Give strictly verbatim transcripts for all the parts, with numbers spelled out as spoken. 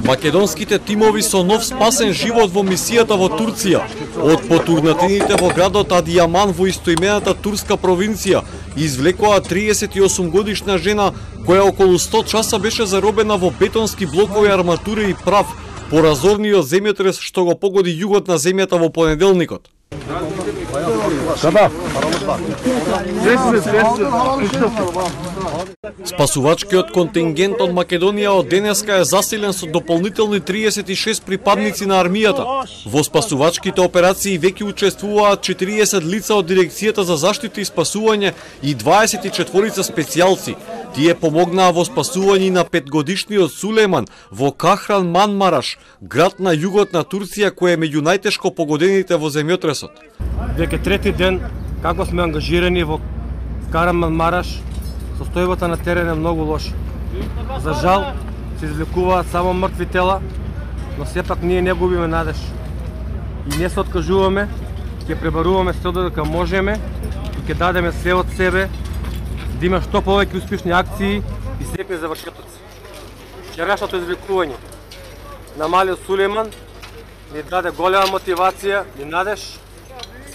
Македонските тимови со нов спасен живот во мисијата во Турција, од потурнатините во градот Адијаман во истоимената турска провинција, извлекоа триесет и осум годишна жена која околу сто часа беше заробена во бетонски блокови, арматура и прав по разорниот земјотрес што го погоди југот на земјата во понеделникот. Спасувачкиот контингент од Македонија од денеска е засилен со дополнителни триесет и шест припадници на армијата. Во спасувачките операции веќе учествуваат четириесет лица од Дирекцијата за заштита и спасување и дваесет и четворица специјалци. Тие помогнаа во спасување на петгодишниот Сулеман во Кахран Манмараш, град на југот на Турција кој е меѓу најтешко погодените во земјотресот. Веќе трети ден како сме ангажирани во Караманмараш, состојбата на терен е многу лоша. За жал се извлекуваат само мртви тела, но сепак ние не губиме надеж. И не се откажуваме, ќе пребаруваме се додека можеме и ќе дадеме се од себе да има што повеќе успешни акции и срепни завршетоци. Вчерашното извлекување на малиот Сулейман ни даде голема мотивација и надеж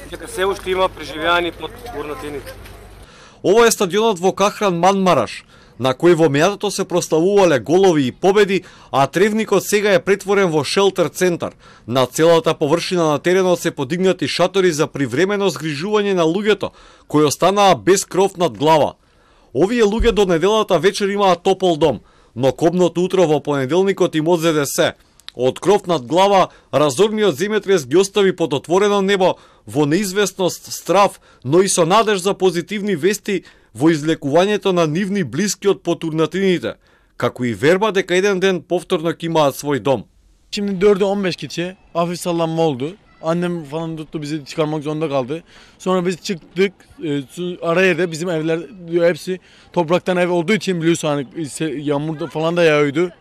дека се уште има преживеани под урнатините. Ова е стадионот во Кахран Манмараш, на кој во минатото се прославувале голови и победи, а тревникот сега е претворен во шелтер центар. На целата површина на теренот се подигнати шатори за привремено згрижување на луѓето, кои останаа без кров над глава. Овие луѓе до неделата вечер имаат топол дом, но кобното утро во понеделникот им одзеде се. Од кров над глава, разорниот земјотрес ги остави под отворено небо, во неизвестност, страв, но и со надеж за позитивни вести во излекувањето на нивни блиски од потурнатините, како и верба дека еден ден повторно ќе имаат свој дом. Şimdi dördü on beş geçe hafif sallanma oldu. Annem falan tuttu, bizi çıkarmak zorunda kaldı. Sonra biz çıktık, e, araya da bizim evler hepsi topraktan ev olduğu için biliyorsun hani yağmurda falan da yağıyordu.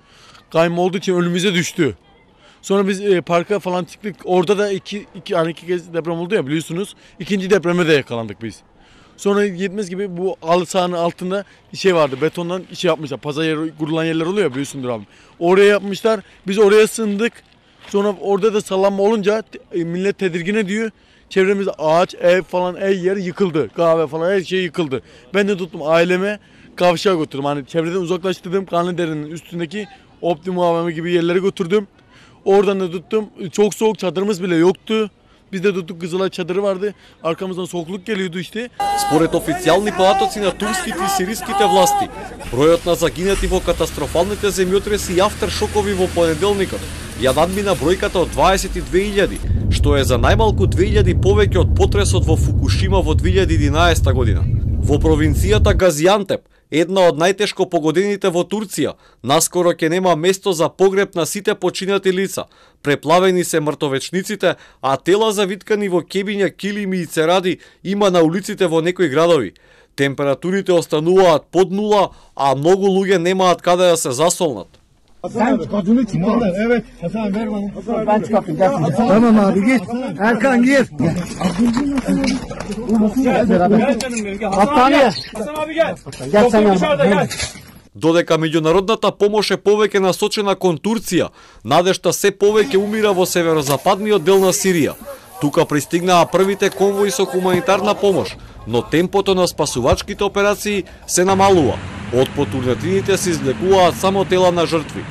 Kayma olduğu için önümüze düştü. Sonra biz e, parka falan çıktık. Orada da iki, iki, hani iki kez deprem oldu ya biliyorsunuz. İkinci depreme de yakalandık biz. Sonra yetmez gibi bu halı sahanın altında şey vardı. Betondan şey yapmışlar. Pazar yeri kurulan yerler oluyor ya biliyorsundur abi. Oraya yapmışlar. Biz oraya sığındık. Sonra orada da sallanma olunca e, millet tedirgin ediyor. Çevremizde ağaç, ev falan, her yer yıkıldı. Kahve falan her şey yıkıldı. Ben de tuttum aileme kavşağa götürdüm. Hani çevreden uzaklaştırdım. Kanlıdere'nin üstündeki Optimum A V M gibi yerlere götürdüm. Oradan da tuttum. Çok soğuk, çadırımız bile yoktu. Biz de tuttuk, Kızılay çadırı vardı. Arkamızdan soğukluk geliyordu işte. Според официјални податоци на турските и сириските власти, бројот на загинати во катастрофалните земјотреси и автершокови во понеделникот ја надмина бројката од дваесет и две илјади, што е за најмалку две илјади повеќе од потресот во Фукушима во две илјади и единаесета година. Во провинцијата Газиантеп, една од најтешко погодените во Турција, наскоро ќе нема место за погреб на сите починати лица. Преплавени се мртовечниците, а тела завиткани во кебиња, килими и церади има на улиците во некои градови. Температурите остануваат под нула, а многу луѓе немаат каде да се засолнат. Sen kadını çıkardın. Evet. Hasan ver bana. Ben çıkarttım. Tamam abi git. Erkan gir. Gel canım benim. Hastaneye. Hasan abi gel. Gel sen dışarıda gel. Додека меѓународната помош е повеќе насочена кон Турција, надежта се повеќе умира во северозападниот дел на Сирија. Тука пристигнаа првите конвои со хуманитарна помош, но темпото на спасувачките операции се намалува. Од потурнатините се извлекуваат само тела на жртви.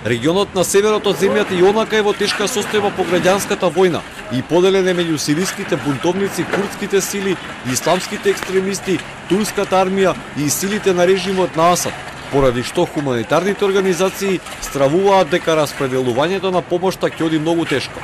Регионот на северот од земјата и онака е во тешка состојба по граѓанската војна и поделен е меѓу сириските бунтовници, курдските сили, исламските екстремисти, турската армија и силите на режимот на Асад, поради што хуманитарните организации стравуваат дека распределувањето на помошта ќе оди многу тешко.